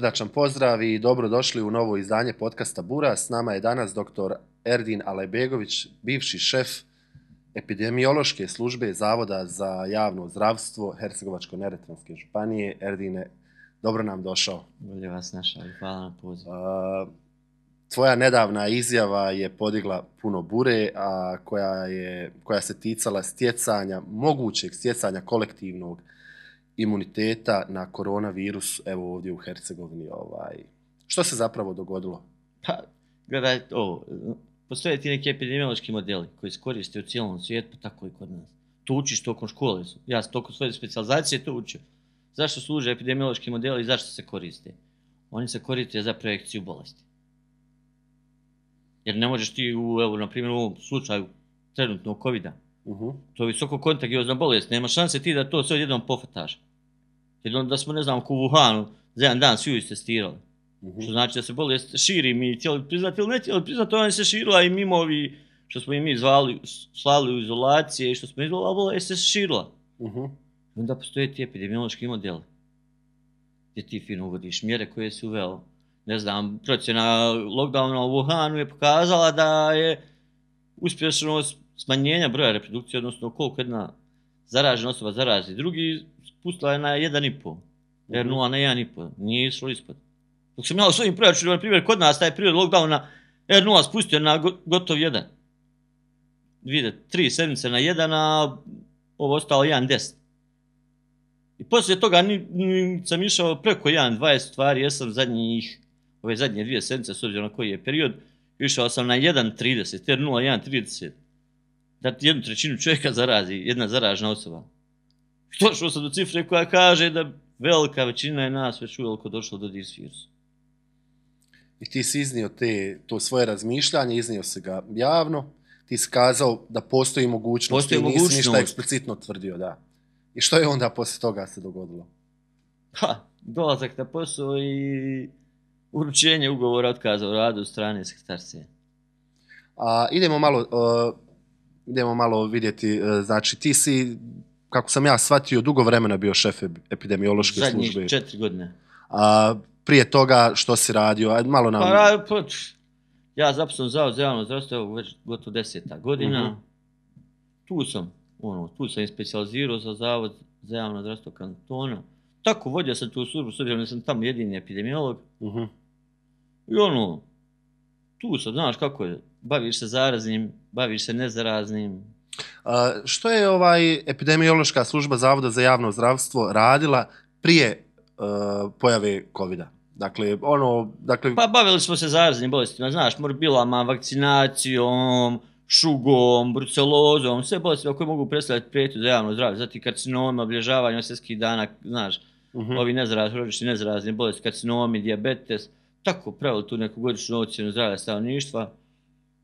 srdačan pozdrav i dobrodošli u novo izdanje podcasta Bura. S nama je danas dr. Erdin Alajbegović, bivši šef epidemiološke službe Zavoda za javno zdravstvo Hercegovačko-neretvanske županije. Erdine, dobro nam došao. Bolje vas našao i hvala na pozivu. Tvoja nedavna izjava je podigla puno bure, a koja se ticala mogućeg stjecanja kolektivnog imuniteta na koronavirus, evo ovdje u Hercegovini. Što se zapravo dogodilo? Pa, gledaj ovo, postoje ti neki epidemiološki modeli koji se koriste u cijelom svijetu, tako i kod nas. To učiš tokom škole, ja sam tokom svoje specijalizacije to učio. Zašto služe epidemiološki modeli i zašto se koriste? Oni se koriste za projekciju bolesti. Jer ne možeš ti, na primjer u ovom slučaju trenutnog COVID-a, to je visoko kontagiozna bolest, nema šanse ti da to sve odjednom pofataš. Jer da smo, ne znam, u Wuhanu za jedan dan svi istestirali. Što znači da se bolest širi, mi htjeli priznati ili ne htjeli priznati, ona se širila i mimo ovi što smo i mi slali u izolacije i što smo izvolali, bolest se širila. Onda postoje ti epidemiološki modeli gdje ti fino uvodiš mjere koje si uveo. Ne znam, procjena lockdowna u Wuhanu je pokazala da je uspješnost smanjenja broja reprodukcije, odnosno koliko jedna zaražena osoba zarazi drugi, spustila je na 1,5, R0 na 1,5, nije išlo ispod. Dok sam ja u svojim proračunima, na primjer, kod nas taj period lockdowna R0 spustio na gotov 1. Vidite, 3 sedmice na 1, a ovo ostalo 1,10. I poslije toga sam išao preko 1,20 stvari, jesam ove zadnje 2 sedmice, s obzirom na koji je period, išao sam na 1,30, R0 1,30. Da ti 1/3 čovjeka zarazi, jedna zaražena osoba. I došao sam do cifre koja kaže da velika većina je nas već uveliko došla do virusa. I ti si iznio to svoje razmišljanje, iznio si ga javno, ti si kazao da postoji mogućnost i nisi ništa eksplicitno tvrdio, da. I što je onda poslije toga se dogodilo? Dolazak na posao i uručenje ugovora otkaza o radu od strane sekretarcije. Idemo malo vidjeti, znači ti si, kako sam ja shvatio, dugo vremena bio šef epidemiološke službe. Zadnjih 4 godine. Prije toga što si radio? Ajde malo nam... Ja zaposlen Zavod za javno zdravstvo, evo već gotovo 10. godina. Tu sam i specijalizirao za Zavod za javno zdravstvo kantona. Tako vodio sam tu službu, s obzirom da sam tamo jedini epidemiolog. I tu sam, znaš kako je, baviš se zaraznim, baviš se nezaraznim. Što je epidemiološka služba Zavoda za javno zdravstvo radila prije pojave COVID-a? Pa bavili smo se zaraznim bolestima, znaš, morbilama, vakcinacijom, šugom, brucelozom, sve bolestima koje mogu predstavljati prijetnju za javno zdravlje, zatim karcinoma, obilježavanje svjetskih dana, znaš, ovi hronični nezarazne bolesti, karcinomi, dijabetes, tako pravili tu neku godišnju ocjenu zdravlja stanovništva.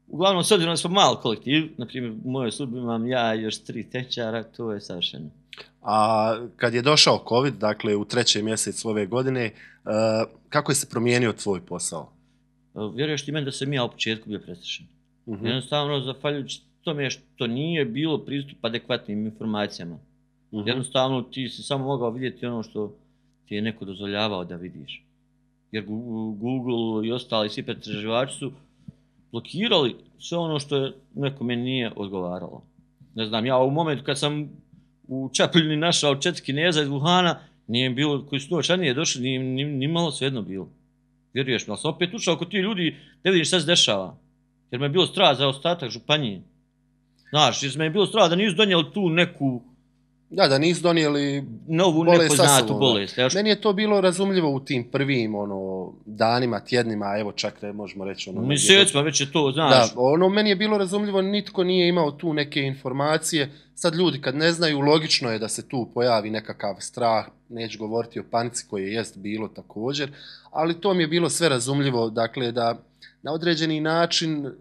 Uglavnom, s obzirom da smo mal kolektiv, na primjer u mojoj službi imam ja i još 3 tehničara, to je savršeno. A kad je došao COVID, dakle u 3. mjesecu ove godine, kako je se promijenio tvoj posao? Vjeruješ ti meni da sam ja u početku bio prestrašen. Jednostavno, zahvaljujući tome što nije bilo pristupa adekvatnim informacijama. Jednostavno, ti si samo mogao vidjeti ono što ti je neko dozvoljavao da vidiš. Jer Google i ostali svi pretraživači su blokirali sve ono što nekome nije odgovaralo. Ne znam, ja u momentu kad sam u Čapliljni našao 4 Kineza iz Wuhana, nije bilo, koji su novčanije došli, ni malo svejedno bilo. Vjeruješ mi, ali sam opet ušao kod ti ljudi da vidiš šta se dešava. Jer me je bilo strah za ostatak županije. Znaš, jer me je bilo strah da nisu donijeli tu neku... Da nisu donijeli novu nepoznatu bolest. Meni je to bilo razumljivo u tim prvim danima, tjednima, evo čak ne možemo reći... Mjesecima već je to, znaš. Da, meni je bilo razumljivo, nitko nije imao tu neke informacije. Sad ljudi kad ne znaju, logično je da se tu pojavi nekakav strah, neću govoriti o panici koje jest bilo također, ali to mi je bilo sve razumljivo, dakle da na određeni način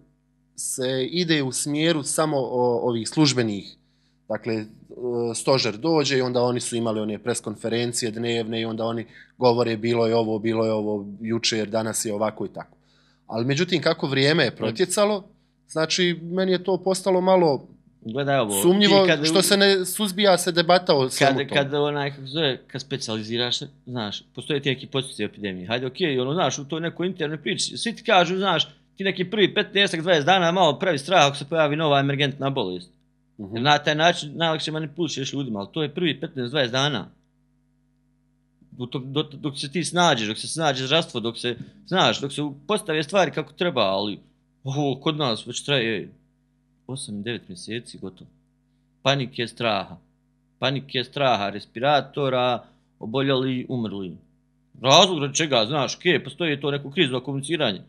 se ide u smjeru samo ovih službenih. Dakle, stožer dođe i onda oni su imali one preskonferencije dnevne i onda oni govore bilo je ovo jučer, danas je ovako i tako. Ali međutim, kako vrijeme je protjecalo, znači meni je to postalo malo Gledaj ovo. Sumnjivo što se ne suzbija se debata o svemu tomu. Kad specijaliziraš se, znaš, postoje ti neki podsjeci epidemije. Hajde, okej, ono, znaš, u toj nekoj internoj priči. Svi ti kažu, znaš, ti neki prvi 15-20 dana malo pravi strah ako se pojavi nova emergentna bolest. Jer na taj način najlakše manipulišeš ljudima, ali to je prvi 15-20 dana. Dok se ti snađeš, dok se snađe zdravstvo, dok se postave stvari kako treba, ali ovo kod nas već traje 8-9 mjeseci gotovo. Panike straha, respiratora, oboljeli, umrli. Razlog od čega, znaš, postoji to neko krizno komuniciranje.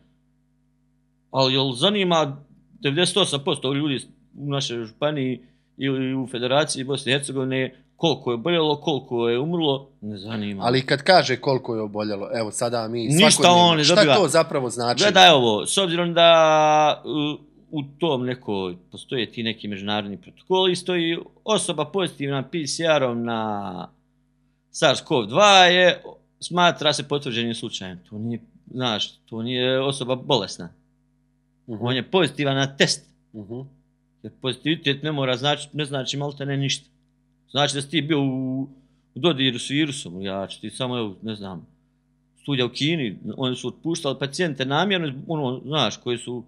Ali jel zanima 98% ljudi u našoj županiji ili u Federaciji Bosne i Hercegovine koliko je oboljelo, koliko je umrlo, ne zanima. Ali kad kaže koliko je oboljelo, evo sada mi svakodnevno, šta to zapravo znači? Gledaj ovo, s obzirom da u tom nekoj postoje ti neki međunarodni protokoli, stoji osoba pozitivna PCR-om na SARS-CoV-2 smatra se potvrđenim slučajem. To nije, znaš, to nije osoba bolesna. On je pozitivan na test. Jer pozitivitet ne znači maltene ništa. Znači da si ti bio u dodiru s virusom, ja ću ti samo, ne znam, studija u Kini, oni su otpuštali pacijente namjerno, ono, znaš, koji su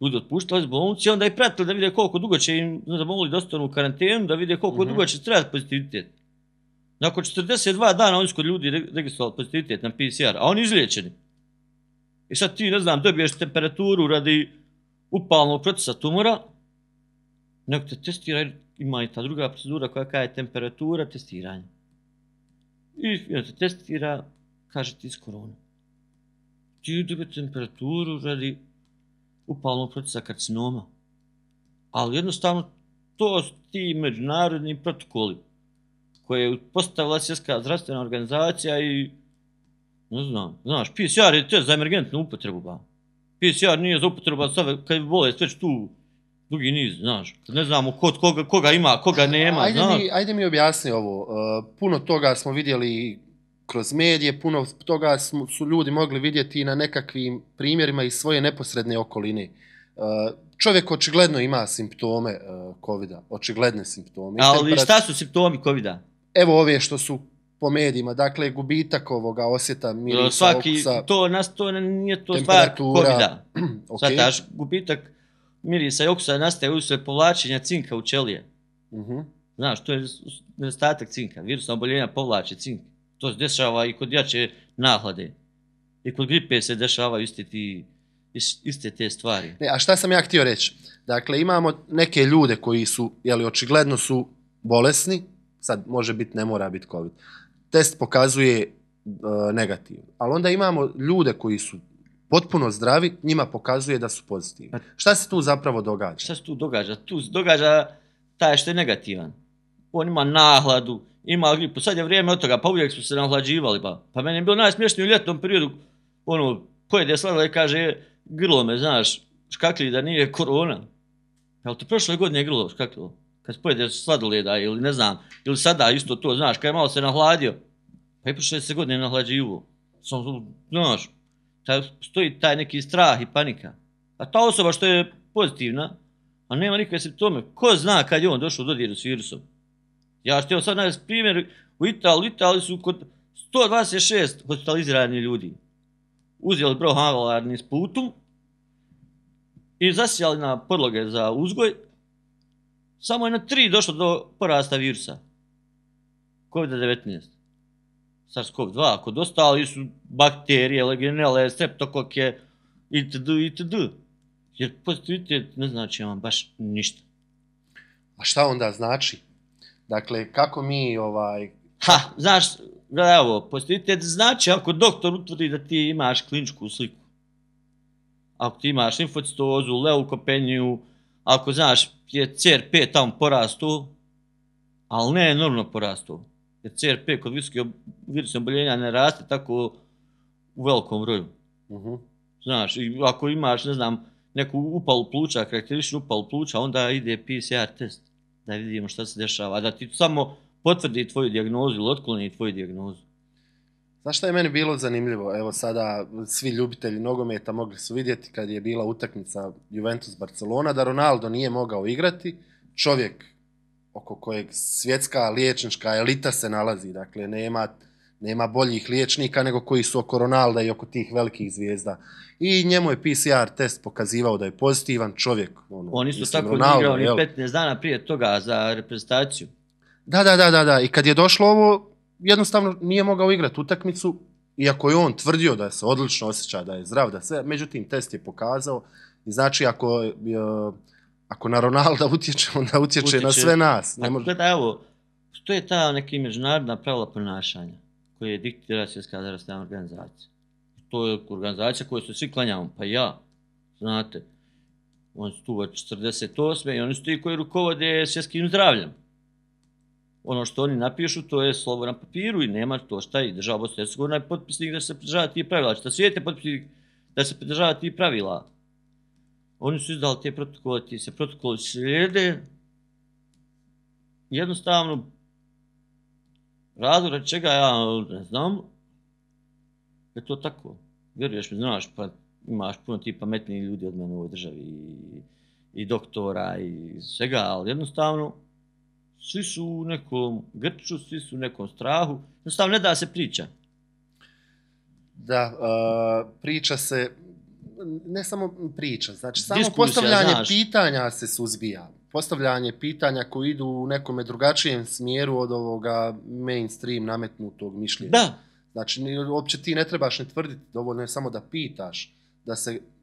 ljudi otpuštali iz bolnice, onda i pratili da vide koliko dugo će im, ne znam, mogli da ostanu u karantenu, da vide koliko dugo će trebati pozitivitet. Nakon 42 dana oni su kod ljudi registrovali pozitivitet na PCR, a oni izliječeni. I sad ti, ne znam, dobiješ temperaturu radi upalnog procesa tumora, nego te testiraju, ima i ta druga procedura koja je temperatura testiranja. I te testira, kaže ti s koronom. Ti dobije temperaturu radi upalnog procesa karcinoma. Ali jednostavno to su ti međunarodni protokoli koje je postavila Svjetska zdravstvena organizacija i ne znam, znaš, PCR je test za emergentnu upotrebu, ba. PCR nije za upotrebu, kad je bolest već tu dugi niz, znaš, ne znamo koga ima, koga nema, znaš. Ajde mi objasni ovo, puno toga smo vidjeli kroz medije, puno toga su ljudi mogli vidjeti na nekakvim primjerima iz svoje neposredne okoline. Čovjek očigledno ima simptome COVID-a, očigledne simptome. Ali šta su simptomi COVID-a? Evo ove što su po medijima, dakle gubitak ovoga osjeta, mirisa, okusa, to nije to stvar COVID-a. Okay. Sad gubitak mirisa i okusa nastaje usred povlačenja cinka u ćelije. Znaš, to je nedostatak cinka. Virusna oboljenja povlače cink. To se dešava i kod jače nahlade. I kod gripe se dešavaju iste te stvari. A šta sam ja htio reći? Dakle, imamo neke ljude koji su, očigledno su bolesni, sad može biti, ne mora biti COVID. Test pokazuje negativno. Ali onda imamo ljude koji su potpuno zdravi, njima pokazuje da su pozitivni. Šta se tu zapravo događa? Šta se tu događa? Tu se događa taj što je negativan. On ima nahladu, ima gripu. Sad je vrijeme od toga, pa uvijek smo se nahlađivali. Pa meni je bilo najsmješnije u ljetnom periodu, pojede sladoled i kaže, grlo me, znaš, škakli da nije korona. Jel te prošle godine grlo škaklilo? Kad pojede sladoleda ili ne znam, ili sada isto to, znaš, kad je malo se nahladio. Pa i prošle se godine nahlađivo. Znaš, stoji taj neki strah i panika. A ta osoba što je pozitivna, a nema nikakve simptome, ko zna kad je on došao u dodiru s virusom? Ja ću ti sad navesti primjer, u Italiji su kod 126 hospitaliziranih ljudi uzeli brohalarni sputum i zasijali na podloge za uzgoj, samo je na 3 došlo do porasta virusa. COVID-19. SARS-CoV-2, kod ostali su bakterije, legionele, streptokoke itd. Jer pozitivitet ne znači vam baš ništa. A šta onda znači? Dakle, kako mi znaš, gledaj ovo, pozitivitet znači ako doktor utvrdi da ti imaš kliničku sliku. Ako ti imaš limfocitozu, leukopeniju, ako znaš je CRP tamo porastu, ali ne enormno porastu. Jer CRP kod virusnog oboljenja ne raste tako u velikom broju. Znaš, i ako imaš, ne znam, neku upalu pluća, karakterističnu upalu pluća, onda ide PCR test, da vidimo šta se dešava, da ti samo potvrdi tvoju dijagnozu ili otkloni tvoju dijagnozu. Znaš šta je meni bilo zanimljivo? Evo sada svi ljubitelji nogometa mogli su vidjeti kad je bila utakmica Juventus-Barcelona, da Ronaldo nije mogao igrati, čovjek oko kojeg svjetska liječnička elita se nalazi, dakle nema boljih liječnika nego koji su oko Ronalda i oko tih velikih zvijezda. I njemu je PCR test pokazivao da je pozitivan čovjek. On isto tako nije igrao ni 15 dana prije toga za reprezentaciju. Da. I kad je došlo ovo, jednostavno nije mogao igrati utakmicu, iako je on tvrdio da se odlično osjeća, da je zdrav, da sve, međutim test je pokazao. I znači ako na Ronalda utječe, onda utječe na sve nas. Gledaj, evo, što je ta neka međunarodna pravila ponašanja koje diktira Svjetska zdravstvena organizacija? To je organizacija koju su svi klanjamo, pa ja, znate, oni su tu od 48. i oni su ti koji rukovode svjetskim zdravljem. Ono što oni napišu, to je slovo na papiru i nema to šta i država Bosne i Hercegovine je potpisnik da se pridržava tih pravila. Šta svijet je potpisnik da se pridržava tih pravila? Oni su izdali te protokole, ti se protokoli slijede. Jednostavno, razlog čega ja ne znam, je to tako. Vjeruješ mi, znaš, pa imaš puno ti pametnijih ljudi od mene u ovoj državi i doktora i svega, ali jednostavno svi su u nekom grču, svi su u nekom strahu, jednostavno ne da se priča. Da, priča se, ne samo priča, znači samo postavljanje pitanja se suzbija. Postavljanje pitanja koji idu u nekome drugačijem smjeru od ovoga mainstream nametnutog mišljenja. Da. Znači, uopće ti ne trebaš ne tvrditi, dovoljno je samo da pitaš,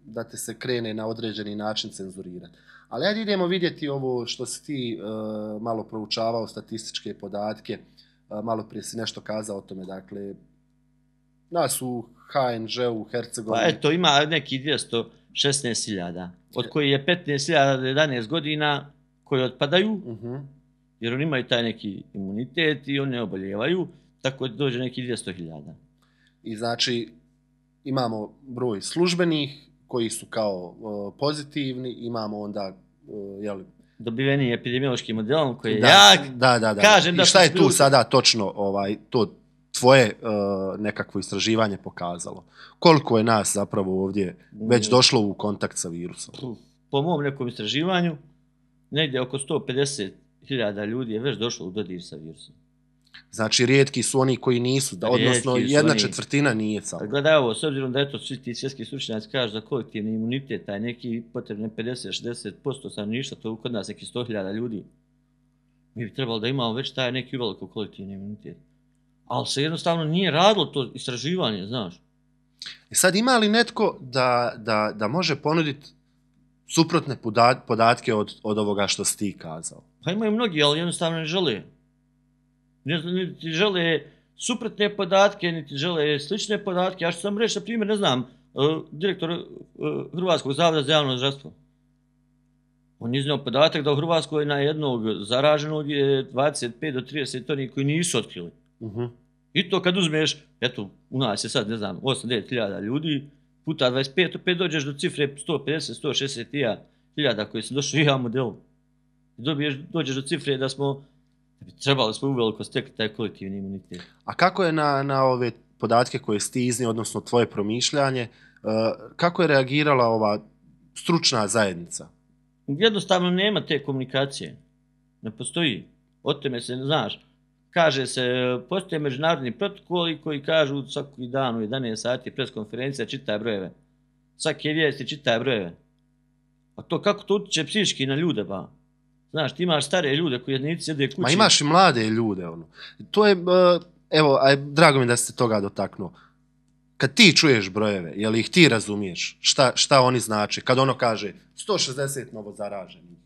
da te se krene na određeni način cenzurirati. Ali ajde idemo vidjeti ovo što si ti malo proučavao, statističke podatke, malo prije si nešto kazao o tome, dakle, nas u HNŽ-u, Hercegovini. Pa eto, ima neki 216.000, od koji je 15.000 do 11 godina koji otpadaju, jer oni imaju taj neki imunitet i oni ne oboljevaju, tako da dođe neki 200.000. I znači, imamo broj službenih koji su kao pozitivni, imamo onda, dobiveni epidemiološkim modelom koji je jak. Da. Kažem i šta je tu sada točno to tvoje nekakvo istraživanje pokazalo? Koliko je nas zapravo ovdje već došlo u kontakt sa virusom? Po mom nekom istraživanju, negdje oko 150.000 ljudi je već došlo u dodir sa virusom. Znači, rijetki su oni koji nisu, odnosno 1/4 nije samo. Gledaj ovo, s obzirom da eto svi ti svjetski stručnjaci kažu za kolektivni imunitet, taj neki potrebne 50-60% stanovništva, to je kod nas neki 100.000 ljudi. Mi bi trebalo da imamo već taj neki veliko kolektivni imunitet. Ali se jednostavno nije radilo to istraživanje, znaš. Sad ima li netko da može ponuditi suprotne podatke od ovoga što si ti kazao? Pa imaju mnogi, ali jednostavno ne žele. Niti žele suprotne podatke, niti žele slične podatke. Ja ću sam reći, na primjer, ne znam, direktor Hrvatskog zavoda za javno zdravstvo. On je iznio podatak da u Hrvatskoj na jednog zaraženog je 25 do 30 onih koji nisu otkrili. I to kad uzmeš, eto, u nas je sad, ne znam, 8-9 ljudi, puta 25, opet dođeš do cifre 150-160 hiljada koji su došli u javnom modelu. Dođeš do cifre da trebali smo uveliko stekli taj kolektivni imunitet. A kako je na ove podatke koje si ti iznio, odnosno tvoje promišljanje, kako je reagirala ova stručna zajednica? Jednostavno nema te komunikacije. Ne postoji. O tome se ne znaš. Kaže se, postoje međunarodni protokoli koji kažu svaki dan u 11 sati preskonferencija čitaj brojeve. Svake vijesti čitaj brojeve. A to kako to utječe psihički na ljude, ba? Znaš, ti imaš stare ljude koji jednici sjede kući. Ma imaš i mlade ljude, ono. To je, evo, drago mi da ste toga dotaknuo. Kad ti čuješ brojeve, jel ih ti razumiješ? Šta oni znači? Kad ono kaže 160 novo zaraženih.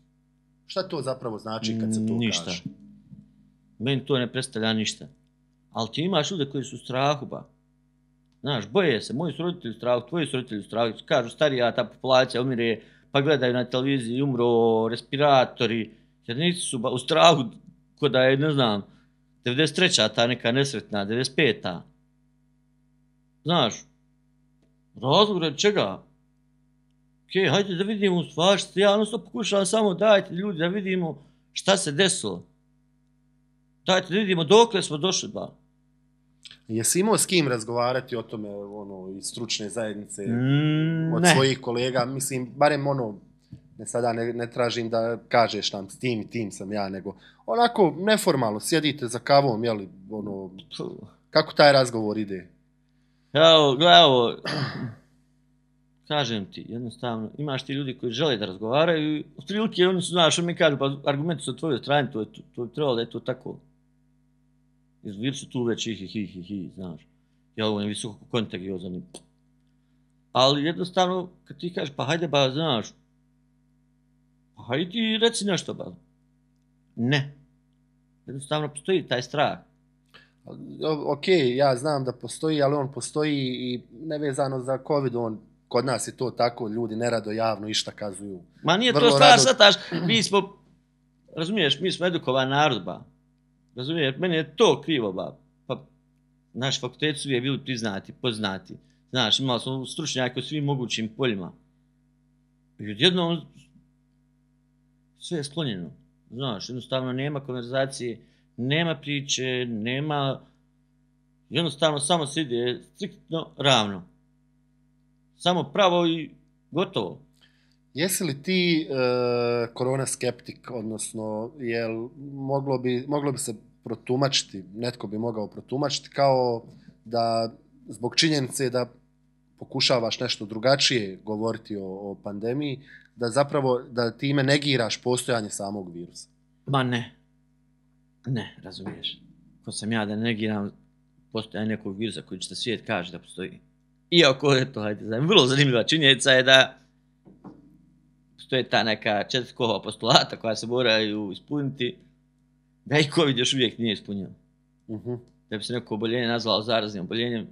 Šta to zapravo znači kad se to ništa. kaže? Meni to ne predstavlja ništa. Ali ti imaš ljude koji su u strahu, ba. Znaš, boje se, moji su roditelji u strahu, tvoji su roditelji u strahu. Kažu, starija ta populacija umire, pa gledaju na televiziji, umro, respiratori, jer nisu u strahu ko da je, ne znam, 93. ta neka nesretna, 95. Znaš, razlog od čega? Ok, hajde da vidimo stvar, ja jednostavno pokušavam samo dajte ljudi da vidimo šta se desilo. Dajte da vidimo dokle smo došli, ba. Jesi imao s kim razgovarati o tome, ono, iz stručne zajednice, od svojih kolega, mislim, barem ono, Sada ne tražim da kažeš nam s tim i tim sam ja, nego onako neformalno, sjedite za kavom, jeli, ono, kako taj razgovor ide? Evo, kažem ti, jednostavno, imaš ti ljudi koji žele da razgovaraju i u prilike oni su, znaš, mi kažu, pa argumenti su od tvojoj strani, to je trebalo da je to tako. Jer su tu već hi, znaš. Ja ovo je visoko kontagiozan. Ali jednostavno, kad ti kažeš, pa hajde ba, znaš, pa hajde ti reci nešto ba. Ne. Jednostavno postoji taj strah. Ok, ja znam da postoji, ali on postoji i nevezano za COVID, kod nas je to tako, ljudi nerado javno išta kazuju. Ma nije to stvar, shvataš, mi smo, razumiješ, mi smo edukovan narod, ba. Razumiješ, meni je to krivo, ba. Pa, naši fakulteti su uvijek bili priznati, poznati. Znaš, imali smo stručnjake u svim mogućim poljima. I odjednom, sve je sklonjeno. Znaš, jednostavno nema konverzacije, nema priče, nema... Jednostavno samo se ide striktno ravno. Samo pravo i gotovo. Jesi li ti korona skeptik, odnosno jel moglo bi se protumačiti, netko bi mogao protumačiti kao da zbog činjenice da pokušavaš nešto drugačije govoriti o pandemiji, da zapravo da time negiraš postojanje samog virusa? Ma ne. Ne, razumiješ. Ko sam ja da negiram postojanje nekog virusa koji će svijet kaže da postoji. Iako je to, vrlo zanimljiva činjenica je da postoje ta neka 4 kohova postulata koja se moraju ispuniti, da i COVID još uvijek nije ispunio. Da bi se neko oboljenje nazvalo zaraznim oboljenjem,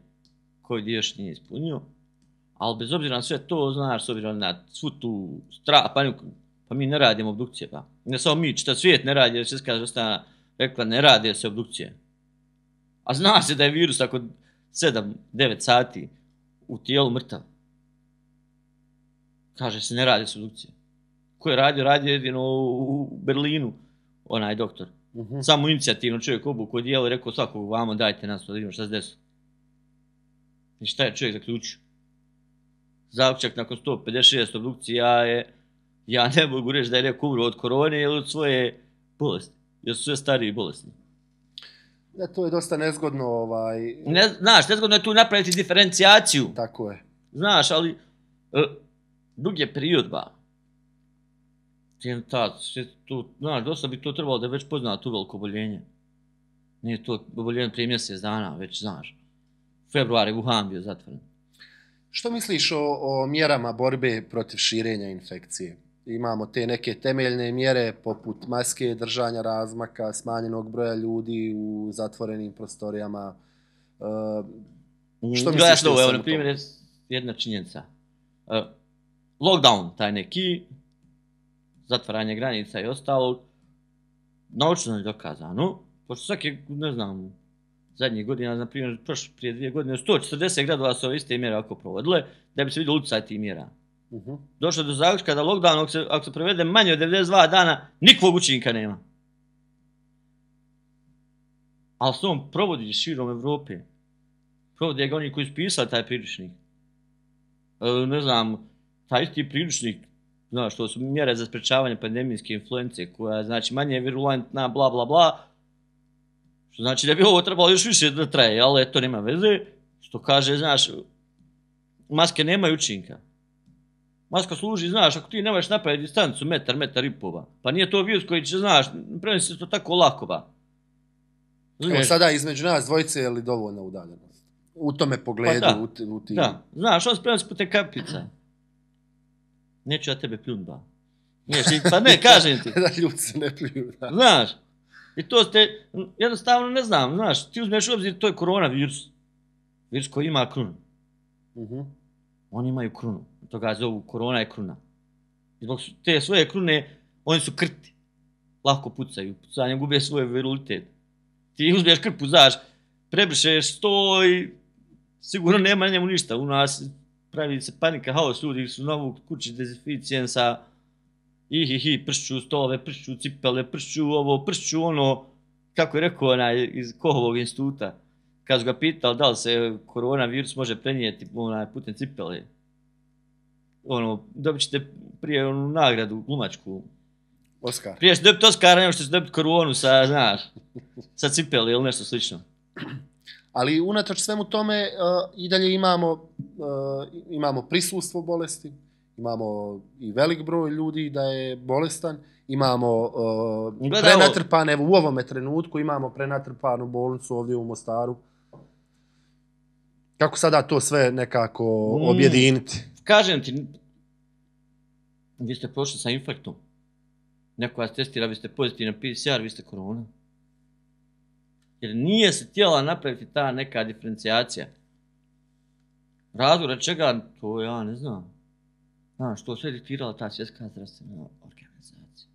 COVID još nije ispunio. Ali bez obzira na sve to, znaš, s obzirom na svu tu paniku, pa mi ne radimo obdukcije, pa. Ne samo mi, čitav svijet ne radi, jer Svjetska zdravstvena rekla ne rade se obdukcije. A zna se da je virus ako 7-9 sati u tijelu mrtav. Kaže se ne radi se obdukcije. Ko je radio jedino u Berlinu, onaj doktor. Samo inicijativno čovjek obuku odijelo i rekao svakog vamo dajte nas da vidimo šta se desilo. I šta je čovjek zaključio? Zaključak nakon 156 obdukcija je, ja ne mogu reći da je neko umro od korone ili od svoje bolesti. Jer su sve stariji i bolesni. To je dosta nezgodno. Znaš, nezgodno je tu napraviti diferencijaciju. Tako je. Znaš, ali dug je period, ba. Znaš, dosta bi to trebalo da je već poznala tu veliko oboljenje. Nije to oboljenje prije mjesec dana, već znaš. Februar je Wuhan bio zatvoren. Što misliš o mjerama borbe protiv širenja infekcije? Imamo te neke temeljne mjere poput maske, držanja razmaka, smanjenog broja ljudi u zatvorenim prostorijama. Što misliš ti o svemu na primjer, je jedna činjenica. Lockdown, taj neki, zatvaranje granica i ostalo, naučno je dokazano, pošto svake, ne znam, zadnjih godina, na primjer, prije 2 godine, 140 gradova su ove iste mjere ako provodile, da bi se vidio utjecaj tih mjera. Došlo do zaključka da lockdown, ako se prevede manje od 92 dana, nikakvog učinka nema. Ali se on provodi širom Evrope. Provodi ga oni koji su pisali taj priručnik. Ne znam, taj isti priručnik, znaš, to su mjere za sprečavanje pandemijske influence, koja je, znači, manje virulentna, bla, bla, bla. Što znači da bi ovo trebalo još više da traje, ali to nema veze. Što kaže, znaš, maske nemaju učinka. Maska služi, znaš, ako ti nemaš napraviti distancu metar i pol, pa nije to virus koji će, znaš, prenosi se to tako lako, ba. Evo sada između nas dvojice je li dovoljna udaljenost? U tome pogledu, pa u tim... Da, znaš, on se prenosi putem kapica. Neću ja tebe pljun, ba. Pa ne, kažem ti. Da ljudi se ne pljuju, da. Znaš, i to ste, jednostavno ne znam, znaš, ti uzmeš u obzir, to je koronavirus. Virus koji ima krunu. Oni imaju krunu. Toga zovu korona je kruna. I zbog te svoje krune, oni su krti. Lako pucaju. Pucanjem gube svoj virulitet. Ti uzmeš krpu, znaš, prebrišeš 100 i sigurno nema na njemu ništa. U nas pravi se panika, haos, ljudi su novu kući dezinficijensa, pršću stolove, pršću cipele, pršću ovo, pršću ono, kako je rekao onaj iz Kohovog instituta. Kad su ga pitali da li se koronavirus može prenijeti putem cipele. dobit ćete prije onu nagradu glumačku. Oscar. Prije ćete dobiti Oscara, nego što ćete dobiti koronu sa, znaš, sa cipeli ili nešto slično. Ali unatoč svemu tome i dalje imamo prisustvo bolesti, imamo i velik broj ljudi da je bolestan, imamo prenatrpane, evo u ovome trenutku imamo prenatrpanu bolnicu ovdje u Mostaru. Kako sada to sve nekako objediniti? Kažem ti, vi ste prošli sa infarktom. Neko vas testira, vi ste pozitivni na PCR, vi ste korona. Jer nije se htjela napraviti ta neka diferencijacija. Razlog čega, to ja ne znam. Znaš, to sve diktirala ta svjetska zdravstvena organizacija.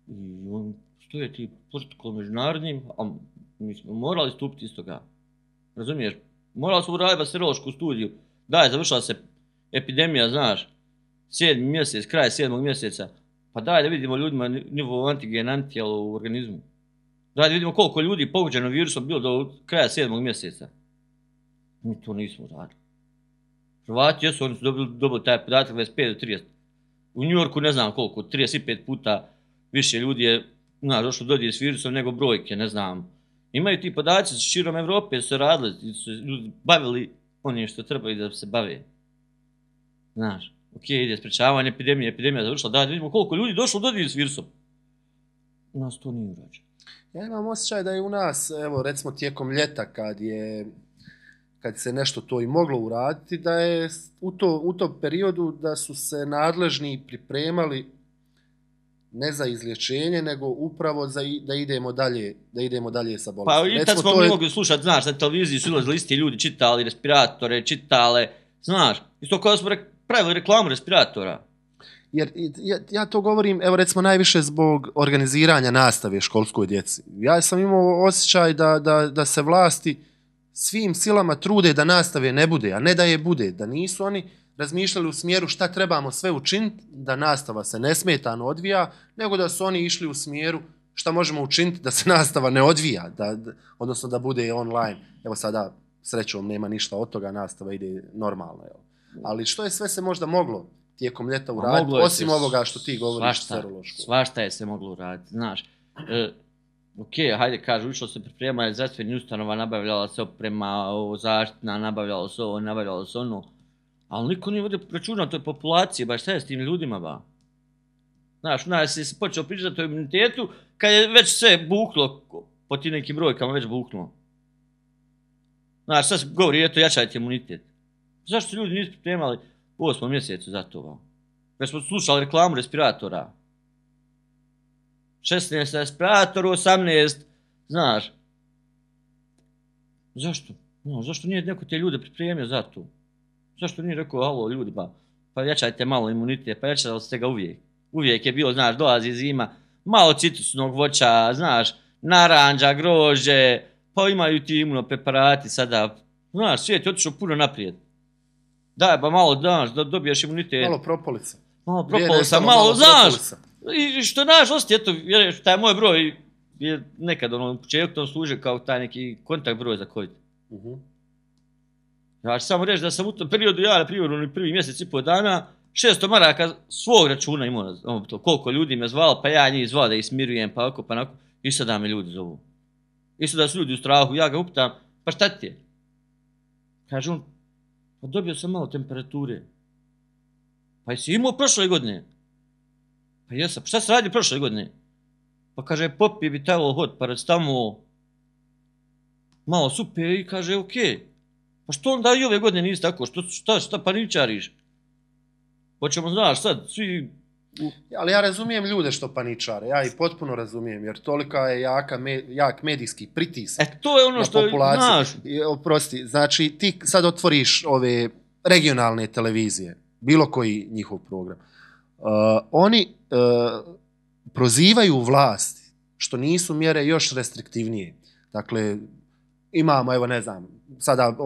I on stoje ti protokol međunarodnim, a mi smo morali stupiti iz toga. Razumiješ? Morali smo uraditi bakteriološku studiju. Daj, završila se epidemija, znaš, 7. mjesec, kraj 7. mjeseca. Pa daj da vidimo ljudima nivo antigen, antitijelo u organizmu. Daj da vidimo koliko ljudi pogođeno virusom bilo do kraja 7. mjeseca. Mi to nismo uradili. Hrvati jesu, oni su dobili taj podatak 25 do 30. U Njujorku ne znam koliko, 35 puta više ljudi je, znaš, došlo dodir s virusom nego brojke, ne znam. Imaju ti podaci širom Evrope, su radili, su ljudi bavili onim što trebaju da se bave. Znaš, ide sprečavanje epidemija završila, da vidimo koliko ljudi došlo dodir s virusom. U nas to nije urađeno. Ja imam osjećaj da je u nas, evo recimo tijekom ljeta kad se nešto to i moglo uraditi, da je u tom periodu da su se nadležni pripremali ne za izlječenje, nego upravo da idemo dalje sa bolesti. Pa i tad smo mi mogli slušati, znaš, na televiziji su ilazili isti ljudi, čitali respiratore, čitale, znaš, isto kao da smo pravili reklamu respiratora. Jer ja to govorim, evo recimo najviše zbog organiziranja nastave školskoj djeci. Ja sam imao osjećaj da se vlasti svim silama trude da nastave ne bude, a ne da je bude, da nisu oni razmišljali u smjeru šta trebamo sve učiniti, da nastava se nesmetano odvija, nego da su oni išli u smjeru šta možemo učiniti da se nastava ne odvija, odnosno da bude online. Evo sada, srećom, nema ništa od toga, nastava ide normalno. Ali što je sve se možda moglo tijekom ljeta uraditi, osim ovoga što ti govoriš serološko? Svašta je se moglo uraditi, znaš. Hajde, kažu, išlo se priprema, zdravstveni ustanova, nabavljala se oprema, zaštitna, nabavljalo se ovo, nabavljalo se ono. Ali niko nije vodio računa o toj populaciji, baš šta je s tim ljudima, ba? Znaš, nas je se počeo pričati o imunitetu, kad je već sve buklo, po ti nekim brojkama već buknulo. Znaš, sad se govori, eto, jačajte imunitet. Zašto se ljudi nisu pripremali u 8. mjesecu za to, ba? Već smo slušali reklamu respiratora. 16 respirator, 18, znaš. Zašto? No, zašto nije neko te ljude pripremio za to? Zašto nije rekao, alo ljudi, pa jačajte malo imunitet, pa jačali ste ga uvijek. Uvijek je bilo, znaš, dolazi zima, malo citrusnog voća, znaš, naranđa, grožđe, pa imaju ti imunopreparati sada. Znaš, svijet je otišao puno naprijed. Daj, ba malo, znaš, da dobiješ imunitet. Malo propolisa. Malo propolisa, malo, znaš. I što naš osti, eto, vjeruješ, taj moj broj je nekad, u početku to služi kao taj neki kontakt broj za COVID. Ja ću samo reći da sam u tom periodu, ja na primjer, prvi mjesec i pol dana, 600 maraka svog računa imao, koliko ljudi me zvalo, pa ja njih zvao da ih smirujem, pa oko, pa nako, i sada me ljudi zovu. I sada su ljudi u strahu, ja ga upitam, pa šta ti je? Kaže on, pa dobio sam malo temperature. Pa jesi imao prošle godine? Pa jesam, pa šta se radi prošle godine? Pa kaže, popije bi tavo hod, paracetamol, malo supe i kaže, okej. Pa što onda i ove godine nisi tako, šta paničariš? Hoćemo, znaš, sad, svi... Ali ja razumijem ljude što paničare, ja ih potpuno razumijem, jer tolika je jak medijski pritisak to je ono što, znaš. Oprosti, znači ti sad otvoriš ove regionalne televizije, bilo koji njihov program. Oni prozivaju vlast što nisu mjere još restriktivnije. Dakle, imamo, evo ne znam, sada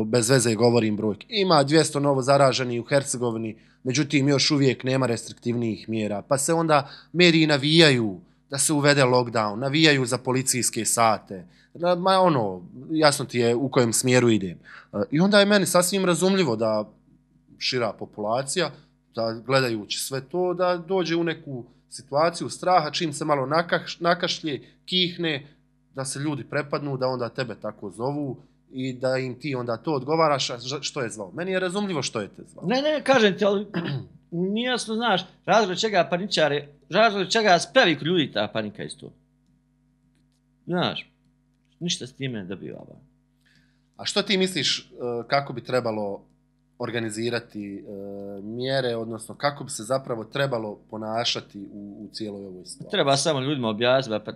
bez veze govorim brojke, ima 200 novo zaraženih u Hercegovini, međutim još uvijek nema restriktivnijih mjera, pa se onda mediji navijaju da se uvede lockdown, navijaju za policijske sate, jasno ti je u kojem smjeru idem. I onda je meni sasvim razumljivo da šira populacija, da gledajući sve to, da dođe u neku situaciju straha, čim se malo nakašlje, kihne, da se ljudi prepadnu, da onda tebe tako zovu i da im ti onda to odgovaraš, što je zvao. Meni je razumljivo što je te zvao. Ne, kažem ti, ali nije jasno, znaš, razlog čega paničare, razlog čega spravi kod ljudi ta panika isto. Znaš, ništa s time ne dobiva. A što ti misliš kako bi trebalo organizirati mjere, odnosno kako bi se zapravo trebalo ponašati u cijeloj ovoj situaciji? Treba samo ljudima objasniti, pa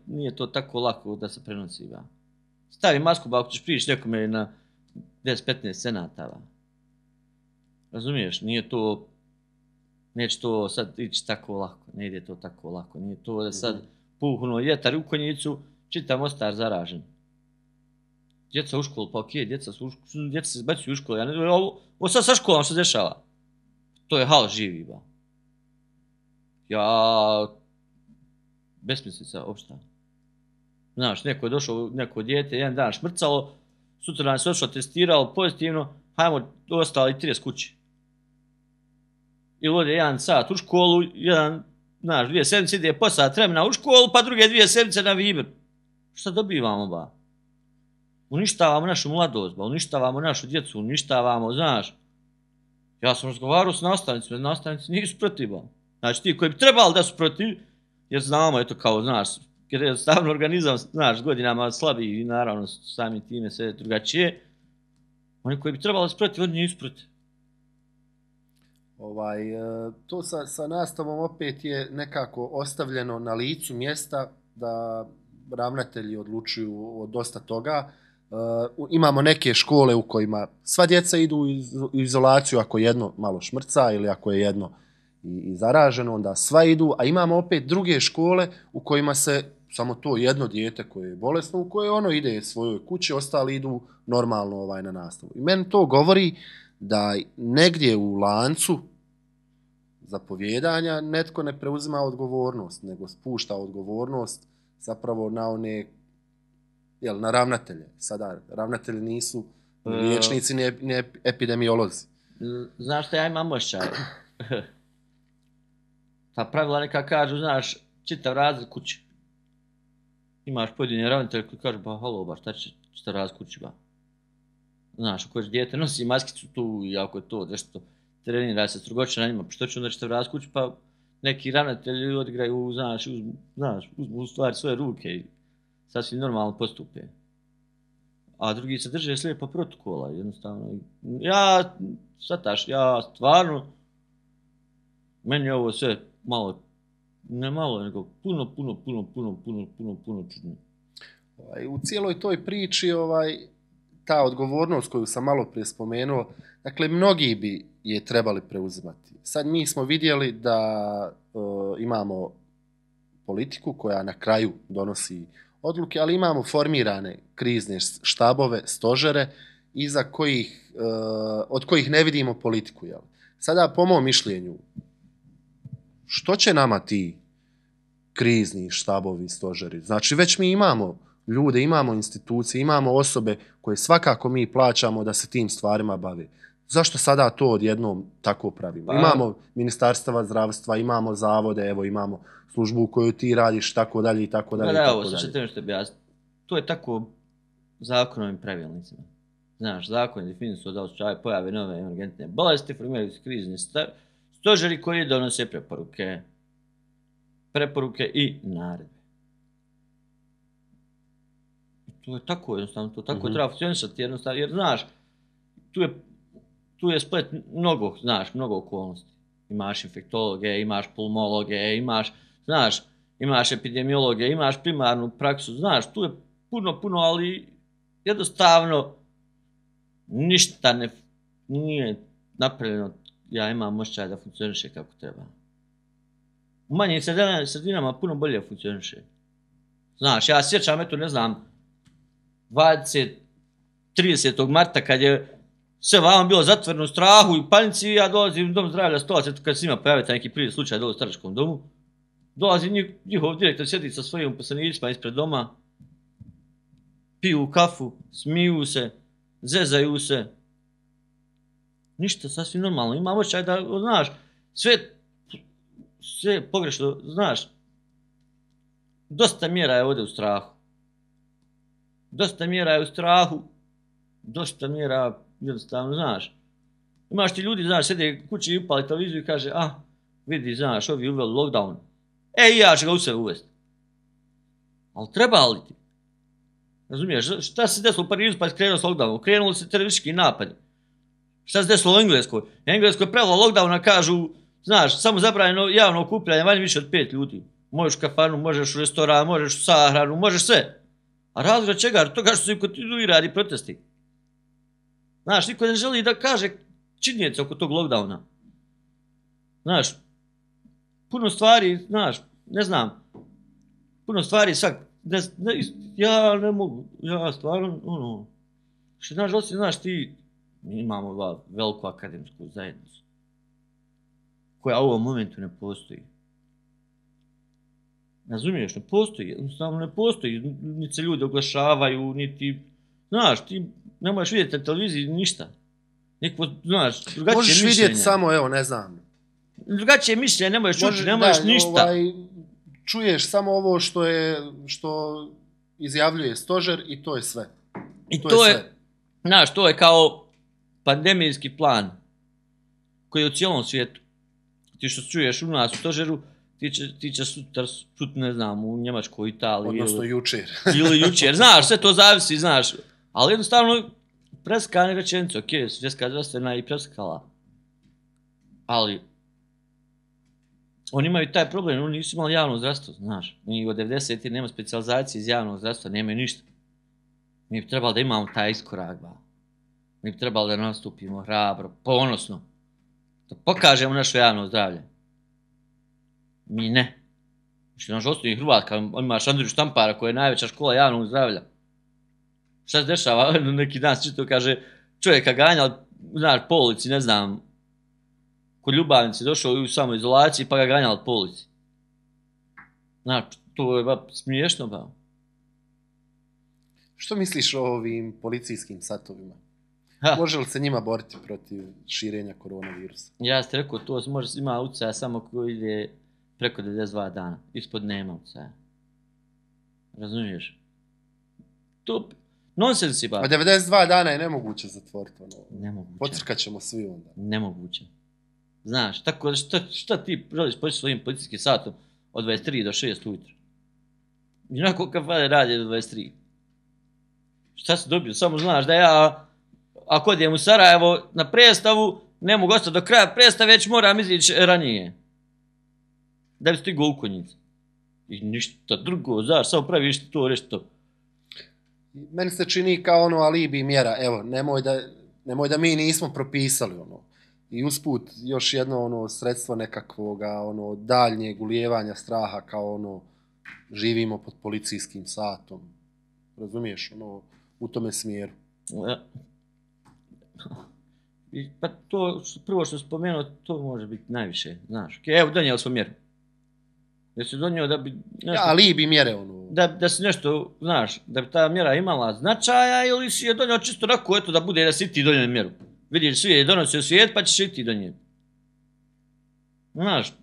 nije to tako lako da se prenosi. Ba. Stavi masku, ba, ako ćeš prići nekome na 10-15 senatava. Razumiješ, neće to sad ići tako lako, ne ide to tako lako, nije to da sad puhnuo vjetar u konjicu, čitav Mostar zaražen. Djeca u školu, pa okej, djeca se zbacuju u školu, ovo sad sa školom što se dešava. To je haos živi, ba. Besmislica, opšta. Znaš, neko je došao, neko dijete, jedan dan šmrcalo, sutra dan se odšlo, testiralo pozitivno, hajmo, ostali 30 kući. Ili ode 1 sat u školu, znaš, 2 sedmice ide po sat vremena u školu, pa druge 2 sedmice na Viber. Šta dobivamo, ba? Uništavamo našu mladost, ba, uništavamo našu djecu, uništavamo, znaš. Ja sam razgovarao s nastavnicima, nastavnici nisu protiv, ba. Znači, ti koji bi trebali da su protiv, jer znamo, eto kao, znaš, jer je stavno organizam, znaš, godinama slabiji i naravno sami time sve drugačije, oni koji bi trebali da su protiv, oni nisu protiv. To sa nastavom opet je nekako ostavljeno na licu mjesta da ravnatelji odlučuju o dosta toga. Imamo neke škole u kojima sva djeca idu u izolaciju ako jedno malo šmrca ili ako je jedno i zaraženo, onda sva idu, a imamo opet druge škole u kojima se samo to jedno dijete koje je bolesno, u koje ono ide svojoj kući, ostali idu normalno na nastavu. I meni to govori da negdje u lancu zapovjedanja netko ne preuzima odgovornost, nego spušta odgovornost zapravo na one, na ravnatelje. Sada ravnatelji nisu liječnici, ni epidemiolozi. Znaš što ja imam osjećaj? Ta pravila neka kažu, znaš, čitav razred kući. Imaš pojedine ravnatelje koji kažu, ba halo, ba šta će čitav razred kući, ba. Znaš, ako još dijete nosi maskicu tu i ako je to nešto trenira se strugoće na njima, pa što će onda čitav razred kući, pa neki ravnatelji odigraju, uzmu u stvari svoje ruke i sasvim normalno postupe. A drugi se drže slijepo protokola, jednostavno. Ja stvarno, meni je ovo sve malo, ne malo, nego puno čudno. U cijeloj toj priči, ta odgovornost koju sam malo prije spomenuo, dakle, mnogi bi je trebali preuzimati. Sad mi smo vidjeli da imamo politiku koja na kraju donosi odluke, ali imamo formirane krizne štabove, stožere, od kojih ne vidimo politiku. Jel? Sada, po mom mišljenju, što će nama ti krizni štabovi, stožeri? Znači, već mi imamo ljude, imamo institucije, imamo osobe koje svakako mi plaćamo da se tim stvarima bave. Zašto sada to odjednom tako pravimo? Imamo ministarstva zdravstva, imamo zavode, evo imamo službu u kojoj ti radiš, tako dalje i tako dalje. Da, evo, sad ćete što bi jasno. To je tako zakonovim pravilnicima. Znaš, zakon je definisao da slučaju pojave nove emergentne bolesti, formiraju se krizni stožeri koji donose preporuke i naredbe. To je tako jednostavno, to tako treba funkcionisati jednostavno, jer znaš, tu je splet mnogo okolnosti. Imaš infektologe, imaš pulmologe, imaš epidemiologe, imaš primarnu praksu, znaš, tu je puno, ali jednostavno ništa nije napravljeno, ja imam osjećaj da funkcioniše kako treba. U manjim sredinama puno bolje funkcioniše. Znaš, ja sjećam, 30. marta kad je sve vama bilo zatvoreno u strahu i panici, ja dolazim u dom zdravlja Stolac, kad se njima pojavite neki prvi slučaj dole u staračkom domu, dolazi njihov direktor, sjedi sa svojim uposlenicima ispred doma, piju kafu, smiju se, zezaju se. Ništa, sasvim normalno. Imam osjećaj da, znaš, sve pogrešno, znaš, dosta mjera je ovdje u strahu. Dosta mjera je u strahu, dosta mjera, jednostavno, znaš. Imaš ti ljudi, znaš, sjede kući i upali televiziju i kaže, vidi, znaš, ovi uveli lockdown. I ja ću ga u sebe uvesti. Ali treba li ti? Razumiješ, šta se desilo u Parizu pa je krenuo s lockdownom? Krenuli se teroristički napadi. Šta se desilo u Engleskoj? Engleskoj je prevelo lockdowna, kažu, znaš, samo zabranjeno javno okupljanje, manje više od 5 ljudi. Možeš u kafanu, možeš u restoran, možeš u sahranu, možeš sve. A razlog čega? Toga što se kontinuirani protesti. Znaš, niko ne želi da kaže činjenice oko tog lockdowna. Znaš, puno stvari, znaš, ne znam, puno stvari ja ne mogu, ja stvarno, što znaš, mi imamo veliku akademsku zajednicu, koja u ovom momentu ne postoji. Razumiješ, ne postoji, jednostavno ne postoji, niti se ljudi oglašavaju, niti, znaš, ti ne možeš vidjeti na televiziji ništa. Neko, znaš, drugačije mišljenja. Možeš vidjeti samo, evo, ne znam. Drugačije mišljenja, ne možeš čuti, ne možeš ništa. Čuješ samo ovo što izjavljuje stožer i to je sve. I to je, znaš, to je kao pandemijski plan koji je u cijelom svijetu. Ti što čuješ u nas u stožeru, ti će sutra, ne znam, u Njemačkoj, Italiji. Odnosno jučer. Ili jučer, znaš, sve to zavisi, znaš. Ali jednostavno, preskane rečenice, ok, svjetska zdravstvena i preskala. Ali, oni imaju taj problem, oni nisu imali javno zdravstvo, znaš. Mi od 90. nema specijalizacije iz javnog zdravstva, nemaju ništa. Mi bi trebali da imamo taj iskorak, mi bi trebali da nastupimo hrabro, ponosno. Da pokažemo naše javno zdravlje. Mi ne. Što naš osnovni Hrvatska, imaš Andriju Štampara koja je najveća škola javnog zdravlja. Šta se dešava? Neki dan se čito kaže, čovjeka ganjali, znaš, po ulici, ne znam, kod ljubavnice došao u samoizolaciji pa ga ganjali po ulici. Znaš, to je smiješno, Što misliš o ovim policijskim satovima? Može li se njima boriti protiv širenja koronavirusa? Ja ste rekao, to ima utjecaja samo koji ide preko 92 dana. Ispod nema utjecaja. Razumiješ? To nonsensi, A 92 dana je nemoguće zatvoriti. Nemoguće. Pocrkat ćemo svi onda. Nemoguće. Znaš, tako šta ti želiš početi svojim policijskim satom od 23 do 6 ujutro? Inako kafane radi do 23. Šta si dobio? Samo znaš da ja, ako odem u Sarajevo na predstavu, ne mogu ostati do kraja predstave, već moram izići ranije. Da bi stigao u Konjicu. I ništa drugo, znaš, samo praviš to, reći to. Meni se čini kao alibi mjera, evo, nemoj da mi nismo propisali I usput još jedno sredstvo nekakvog daljnjeg ulijevanja straha kao živimo pod policijskim satom. Razumiješ, u tome smjeru. Pa to, prvo što spomenuo, to može biti najviše, znaš. Evo, donijeli smo mjeru. Da si donio da bi nešto... alibi mjere, Da si nešto, znaš, da bi ta mjera imala značaja ili si je donio čisto onako, eto, da bude da si ti donio mjeru. Vidiš, svi je donosio svijet, pa ćeš i ti donijeti. Znaš,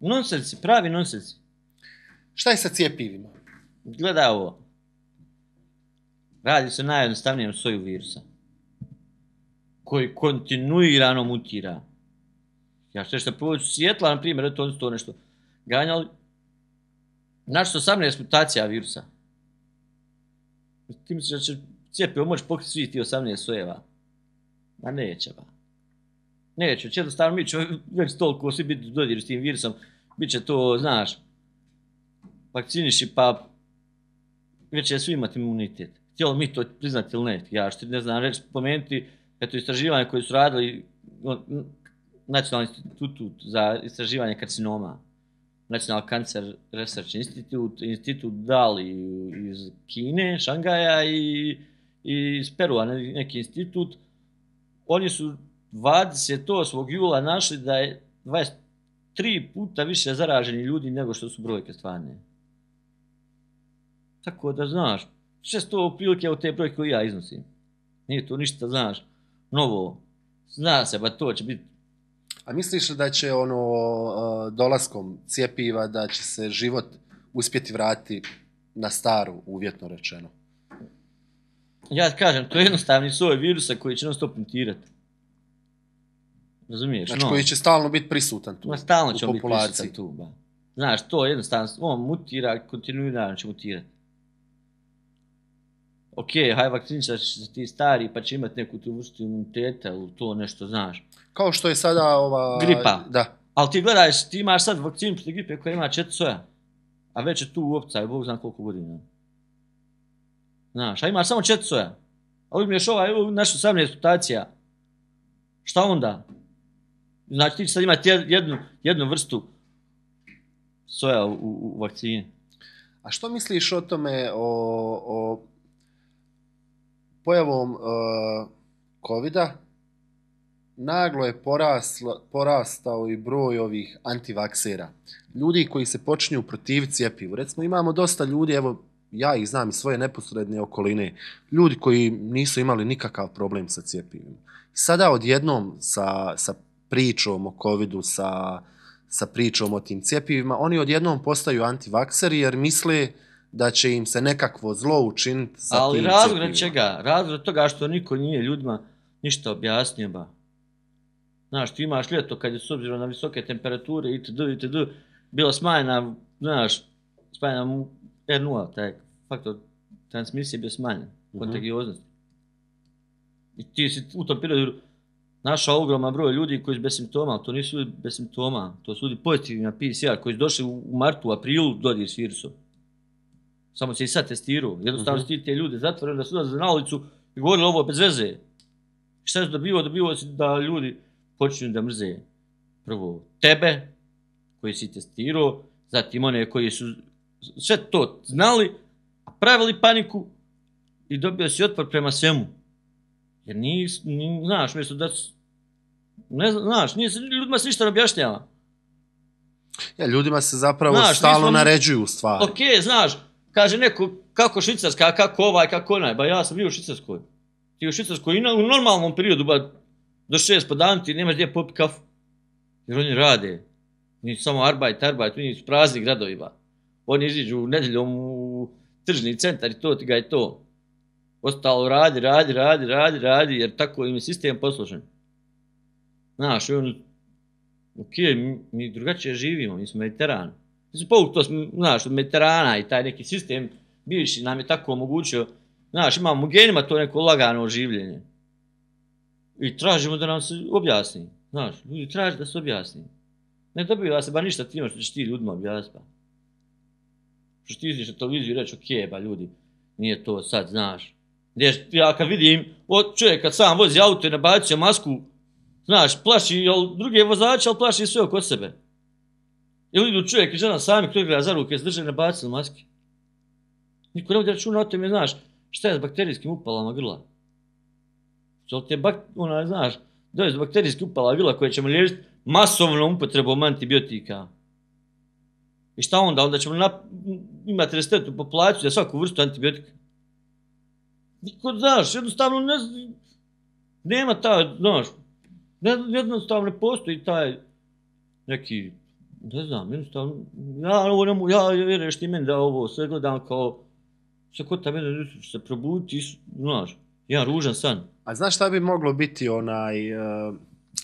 nonsensi, pravi nonsensi. Šta je sa cjepivima? Gledaj ovo. Radi se o najjednostavnijem soju virusa. Koji kontinuirano mutira. Ja što što prvo Sjetla, na primjer, to oni to nešto ganjali. Našli 18 mutacija virusa. Ti misliš da će cijepivo moći pokriti svi ti 18 sojeva? Ma neće, Neće, jednostavno mi ćemo već toliko svi biti dodiru s tim virusom. Biće to, znaš, vakciniši pa već će svi imati imunitet. Htjelo mi to priznati ili ne? Ja što ne znam reći, spomenuti, eto istraživanje koje su radili Nacionalni institut za istraživanje karcinoma, National Cancer Research Institute, institut Dali iz Kine, Šangaja i iz Perua, neki institut. Oni su 28. jula našli da je 23 puta više zaraženi ljudi nego što su brojke stvarne. Tako da, znaš, sve to prilike od te brojke koje ja iznosim. Nije to ništa, znaš, novo. Zna se, ba to će biti. A misliš da će dolaskom cjepiva da će se život uspjeti vratiti na staru, uvjetno rečeno? Ja kažem, to je jednostavni soj virusa koji će non stop mutirati. Razumiješ? Znači koji će stalno biti prisutan tu, stalno će u biti prisutan tu, ba. Znaš, to je jednostavno, on mutira, kontinuirano će mutirati. Ok, haj vakciničar će se ti stari, pa će imati neku tu vrstu imuniteta ili to nešto, znaš. Kao što je sada gripa. Da. Ali ti gledajš, ti imaš sad vakcinu protiv gripe koja ima 4 soja, a već je tu u opcaju, Bog zna koliko godina. Znaš, a imaš samo 4 soja. A uzmiješ našu 18 mutacija. Šta onda? Znači ti će sad imati jednu vrstu soja u vakcini. A što misliš o tome, o pojavom COVID-a? Naglo je porastao i broj ovih antivaksera. Ljudi koji se počinju protiviti cjepivu. Recimo imamo dosta ljudi, evo ja ih znam iz svoje neposredne okoline, ljudi koji nisu imali nikakav problem sa cjepivima. Sada odjednom sa pričom o COVID-u, sa pričom o tim cjepivima, oni odjednom postaju antivakseri jer misle da će im se nekakvo zlo učiniti sa tim cjepivima. Ali razlog čega? Razlog toga što niko nije ljudima ništa objasnio, ba. Znaš, ti imaš ljeto kad je s obzirom na visoke temperature itd. Bila smanjena, znaš, smanjena R0, taj faktor transmisije bio smanjen, kontagioznosti. I ti si u tom periodu našao ogroman broj ljudi koji su bez simptoma, ali to nisu ljudi bez simptoma, to su ljudi pozitivni na PCR koji su došli u martu, aprilu dodir s virusom. Samo se i sad testirao. Jednostavno ti te ljude zatvorili da su odlazili na ulicu i govorili ovo bez veze. Šta se dobivao? Dobivao se da ljudi počinju da mrze prvo tebe, koji si testirao, zatim one koji su sve to znali, pravili paniku i dobio si otpor prema svemu. Jer znaš, mjesto da znaš, ljudima se ništa ne objašnjava. Ja, ljudima se zapravo stalno naređuju stvari. Ok, znaš, kaže neko kako Švicarska, kako ovaj, kako onaj, ba ja sam bio u Švicarskoj. Ti u Švicarskoj u normalnom periodu, ba do 6 po danu ti nemaš gdje popiti kafu. Jer oni rade. Nisu samo arbajt, oni su prazni gradovi, ba. Oni iziđu nedjeljom u tržni centar i to ti ga je to. Ostalo radi, jer tako im je sistem posložen. Znaš, ok, mi drugačije živimo, mi smo Mediteran. Mi smo povuk to, znaš, od Mediterana i taj neki sistem bivši nam je tako omogućio. Znaš, imamo u genima to neko lagano življenje. I tražimo da nam se objasni. Znaš, ljudi traže da se objasni. Ne dobiva se ba ništa time što ćeš ti ljudima objasniti. Što ćeš ti izviš na televiziju i reći, ok, ba ljudi, nije to sad, znaš. Ja kad vidim, čovjek kad sam vozi auto i nabacio masku, znaš, plaši druge vozače, ali plaši sve oko sebe. Ili idu čovjek i žena sami koji gleda za ruke, se drže i nabacili maske. Niko ne vodi računa o tome, znaš, šta je s bakterijskim upalama grla. Što te znaš, dođe do bakterijskih upala grla koje ćemo liječiti masovnom upotrebom antibiotika. I šta onda? Onda ćemo imati rezistentu populaciju za svaku vrstu antibiotika. Niko, znaš, jednostavno nema taj, znaš, jednostavno ne postoji taj neki, ne znam, jednostavno, ja vjerujem što i meni da ovo sve gledam kao, sve kod ta mene će se probuditi, znaš, jedan ružan san. A znaš šta bi moglo biti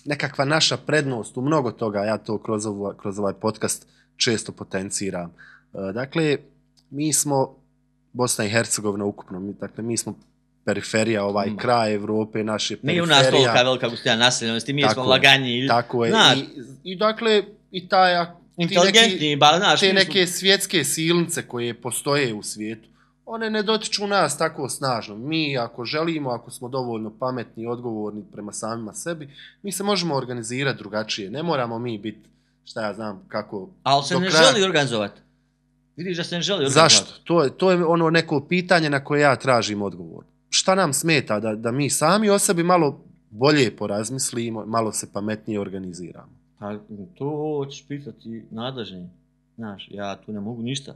nekakva naša prednost u mnogo toga, ja to kroz ovaj podcast često potenciram. Dakle, mi smo Bosna i Hercegovina ukupno, dakle, mi smo periferija, kraj Evrope, naše periferija. Nije u nas tolika velika gustina naseljenosti, mi smo laganji. Tako je. I dakle, i te neke svjetske silnice koje postoje u svijetu, one ne dotiču nas tako snažno. Mi, ako želimo, ako smo dovoljno pametni i odgovorni prema samima sebi, mi se možemo organizirati drugačije. Ne moramo mi biti, šta ja znam, kako... Ali se ne želi organizovati. Vidiš da se ne želi organizovati. Zašto? To je ono neko pitanje na koje ja tražim odgovor. Šta nam smeta da mi sami o sebi malo bolje porazmislimo, malo se pametnije organiziramo? Pa to ćeš pitati nadležni. Znaš, ja tu ne mogu ništa.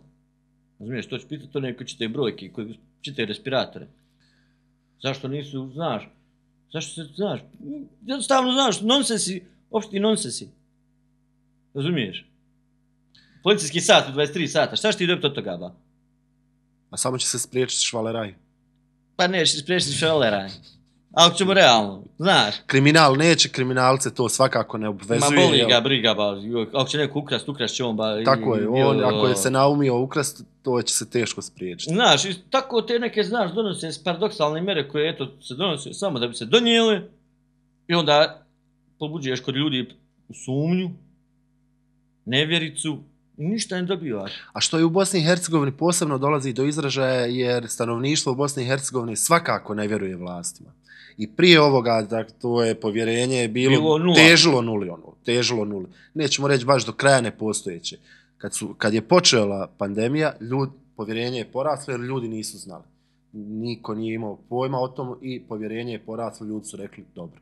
Razumiješ, to ćeš pitati one koji čitaju brojke, koji čitaju respiratore. Zašto nisu, znaš, Zašto se, znaš, jednostavno, znaš, nonsensi, opšti nonsensi. Razumiješ? Policijski sat u 23 sata, šta će ti dobiti od toga, ba? A samo će se spriječiti švaleraj. Pa neće spriječiti švaleraj. Ako ćemo realno, znaš. Kriminal neće, kriminalce to svakako ne obvezuje. Ma boli ga briga, ba. Ako će neko ukrast će on, ba. Tako je, on ako je se naumio ukrast, to će se teško spriječiti. Znaš, tako te neke, znaš, donose paradoksalne mere koje, eto, se donose samo da bi se donijele i onda pobuđuješ kod ljudi sumnju, nevjericu, ništa ne dobivaš. A što je u Bosni i Hercegovini posebno dolazi do izražaja jer stanovništvo u Bosni i Hercegovini svakako ne vjeruje vlastima. I prije ovoga, to je povjerenje bilo težilo nuli. Nećemo reći baš do kraja nepostojeće. Kad je počela pandemija, povjerenje je poraslo jer ljudi nisu znali. Niko nije imao pojma o tom i povjerenje je poraslo, ljudi su rekli dobro.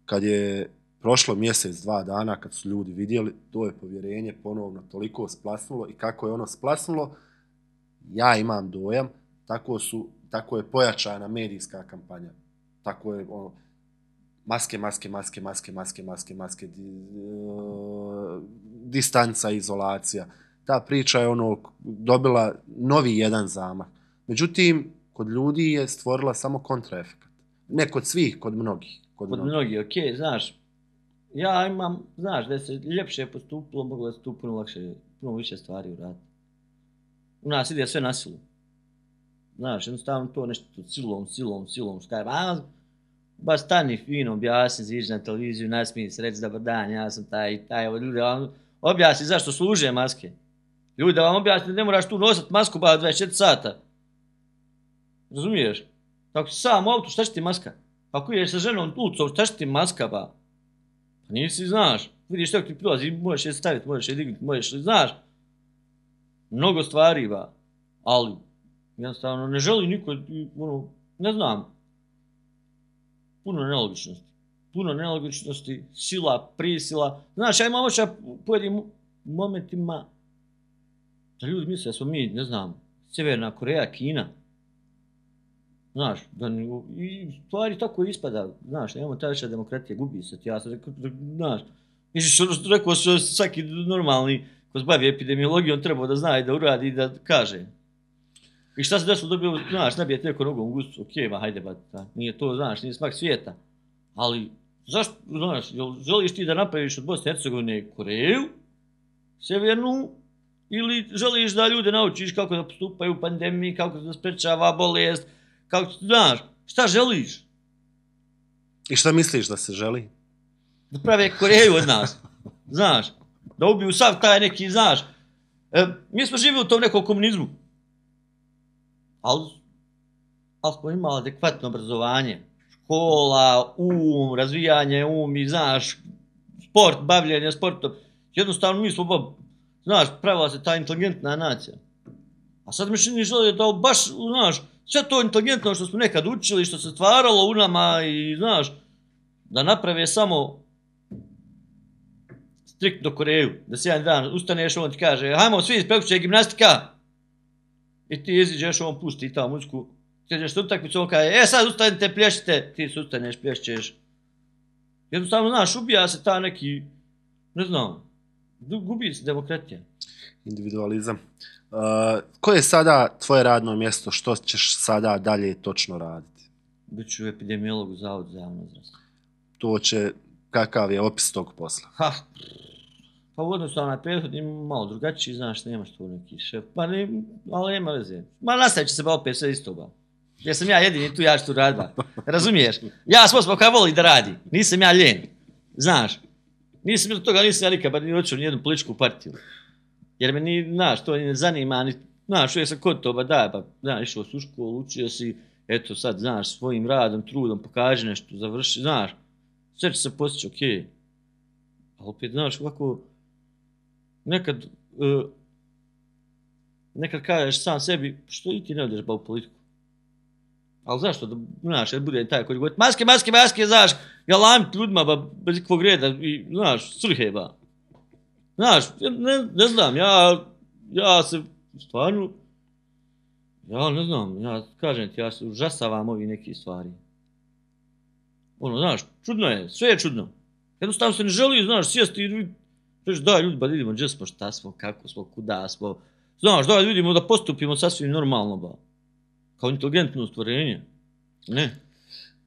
Kad je prošlo mjesec, 2 dana, kad su ljudi vidjeli, to je povjerenje ponovno toliko splasnulo i kako je ono splasnulo, ja imam dojam, tako je pojačana medijska kampanja. Tako je ono, maske, distanca, izolacija. Ta priča je ono dobila novi jedan zamah. Međutim, kod ljudi je stvorila samo kontraefekat. Ne kod svih, kod mnogih. Kod mnogih, okej, znaš. Ja imam, znaš, da se ljepše postupilo, moglo da se tu puno lakše, puno više stvari uraditi. U nas ide sve na silu. Znaš, jednostavno to nešto silom, skaj, ba stani fino, objasni, iziđi na televiziju, nasmiji se, reći dobar dan, ja sam taj i taj, ljudi, objasni zašto služe maske. Ljudi, da vam objasni, ne moraš tu nositi masku ba 24 sata. Razumiješ? Ako si sam u autu, šta će ti maska? Ako ideš sa ženom ulicom, šta će ti maska ba? Pa nisi, znaš, vidiš što ti prilazi, možeš je staviti, možeš je dignuti, možeš, znaš. Mnogo stvari ba, ali jednostavno ne želi niko, ono, ne znam. Puno nelogičnosti, sila, prisila. Znaš, ja imam očaj u pojedinim momentima da ljudi misle da smo mi, ne znam, Sjeverna Koreja, Kina. Znaš, i stvari tako ispada, znaš, nemamo ta veća demokratija, gubi se ti, ja sam rekao, znaš, rekao što svaki normalni ko se bavi epidemiologijom trebao da zna i da uradi i da kaže. I šta se desilo dobio, znaš, nabijete neko nogom u gustu, okej, ma hajde, nije to, znaš, nije smak svijeta. Ali, zašto, znaš, želiš ti da napraviš od Bosne i Hercegovine Koreju, Sjevernu, ili želiš da ljude naučiš kako da postupaju u pandemiji, kako da sprečava bolest, kako, znaš, šta želiš? I šta misliš da se želi? Da prave Koreju od nas, znaš, da ubiju sav taj neki, znaš, mi smo živjeli u tom nekom komunizmu, ali smo imali adekvatno obrazovanje, škola, razvijanje i, znaš, sport, bavljenje sportom. Jednostavno mi smo, znaš, pravila se ta inteligentna nacija. A sad mi čini žele da baš, znaš, sve to inteligentno što smo nekad učili, što se stvaralo u nama i, znaš, da naprave samo striktno Koreju. Da se jedan dan ustaneš, on ti kaže, hajmo svi iz prekuće gimnastika. I ti iziđeš, on pusti ta muziku. Ti ideš na utakmicu, on kaže, sad ustanite, plješite. Ti se ustaneš, plješćeš. Jednostavno, znaš, ubija se ta neki, ne znam, gubi se demokratija. Individualizam. Koje je sada tvoje radno mjesto? Što ćeš sada dalje točno raditi? Biću epidemiolog u Zavodu za javno zdravstvo. To će, kakav je opis tog posla? Pa u odnosu na prethodni malo drugačiji, znaš, nemaš tu neki šef, ali nema veze. Ma nastavit će se ba opet sve isto ba. Jer sam ja jedini tu, ja ću tu raditi ba. Razumiješ? Ja sam osoba koja voli da radi, nisam ja ljen. Znaš, nisam od toga, nisam ja nikad, bar ni očeo nijednu političku partiju. Jer me ni, znaš, to ne zanima, ni, znaš, uvijek sam kod to, znaš, išao si u školu, učio si, eto sad, znaš, svojim radom, trudom, pokaži nešto, završi, znaš, sve će se postići, okej. Ali opet, znaš, ovako, nekad kažeš sam sebi, što i ti ne odeš ba u politiku? Ali zašto, znaš, jer bude taj koji govori, maske, znaš, galamit ljudima, ba, bez ikakvog reda, i, znaš, srhe, ba. Znaš, ne znam, ja se, stvarno, ja ne znam, ja kažem ti, ja se užasavam ovi neki stvari. Ono, znaš, čudno je, sve je čudno. Jednostavno se ne želi, znaš, sjesti i reći, daj ljudi, ba vidimo gdje smo, šta smo, kako smo, kuda smo. Znaš, daj vidimo da postupimo sasvim normalno, ba. Kao inteligentno stvorenje. Ne.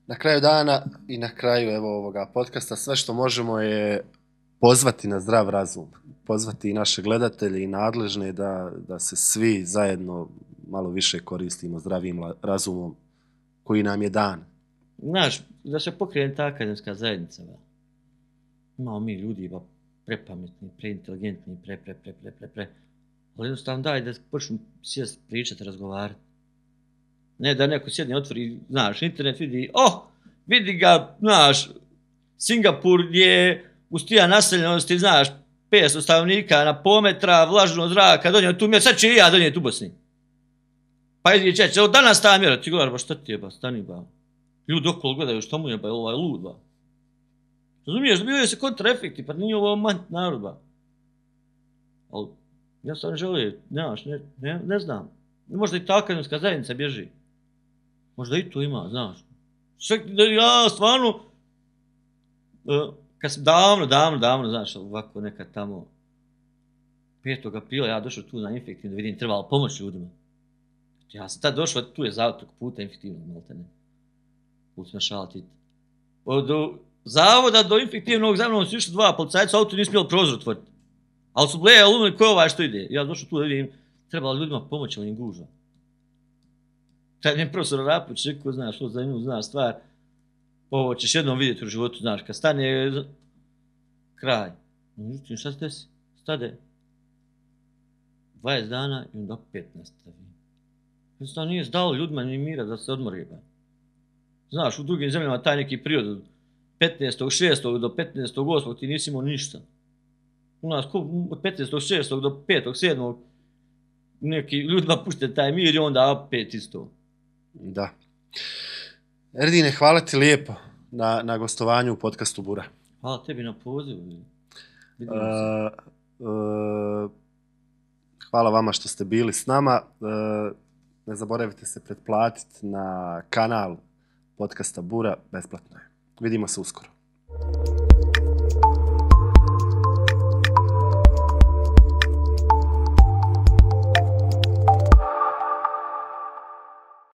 Na kraju dana i na kraju evo ovoga podcasta sve što možemo je pozvati na zdrav razum. Pozvati i naše gledatelje i nadležne da se svi zajedno malo više koristimo zdravim razumom koji nam je dan. Znaš, da se pokrene ta akademska zajednica, ba. Imamo mi ljudi, ba, prepametni, preinteligentni, ali jednostavno daj da počnu sjest pričati, razgovarati. Ne da neko sjedne, otvori, znaš, internet vidi ga, znaš, Singapur je uz tija naseljenosti, znaš, 500 stanovnika na pometra, vlažno zraka, donio tu mjeru, sad će i ja donijeti u Bosni. Pa idi čeće, danas ta mjera, ti gledaš, ba šta ti je, ba, stani, ba. Ljudi okolo gledaju, što mu je, ba, ovaj lud, ba. Razumiješ, dobivaju se kontraefekti, pa nije ovo manj narod, ba. Ali, ja sam želio, ne znam. Možda i ta akademska zajednica bježi. Možda i to ima, znaš. Ja stvarno, kad sam davno, znaš, ovako nekad tamo, 5. aprila ja došao tu na infektivno da vidim, trebalo pomoći ljudima. Ja sam tad došao, tu je zavod preko puta infektivnog, maltene. Put me šalati. Od zavoda do infektivnog za mnom su išli 2 policajca, auto nije smjelo prozor otvoriti. Ali su blejali umeli ko je ovaj što ide. Ja došao tu da vidim, trebalo ljudima pomoći, ali im gužva. Taj mi je profesor Rapović rekao, znaš, što za nju zna stvar, ovo ćeš jednom vidjeti u životu, znaš, kad stane kraj. Međutim, šta se desi? Stade 20 dana i onda opet nastavi. Jednostavno nije dalo ljudima ni mira da se odmori. Znaš, u drugim zemljama taj neki period od 15.6. do 15.8. ti nisi imao ništa. U nas od 15.6. do 5.7. neki ljudima pušte taj mir i onda opet isto. Da. Erdine, hvala ti lijepo na gostovanju u podcastu Bura. Hvala tebi na pozivu. Hvala vama što ste bili s nama. Ne zaboravite se pretplatiti na kanal podcasta Bura, besplatno je. Vidimo se uskoro.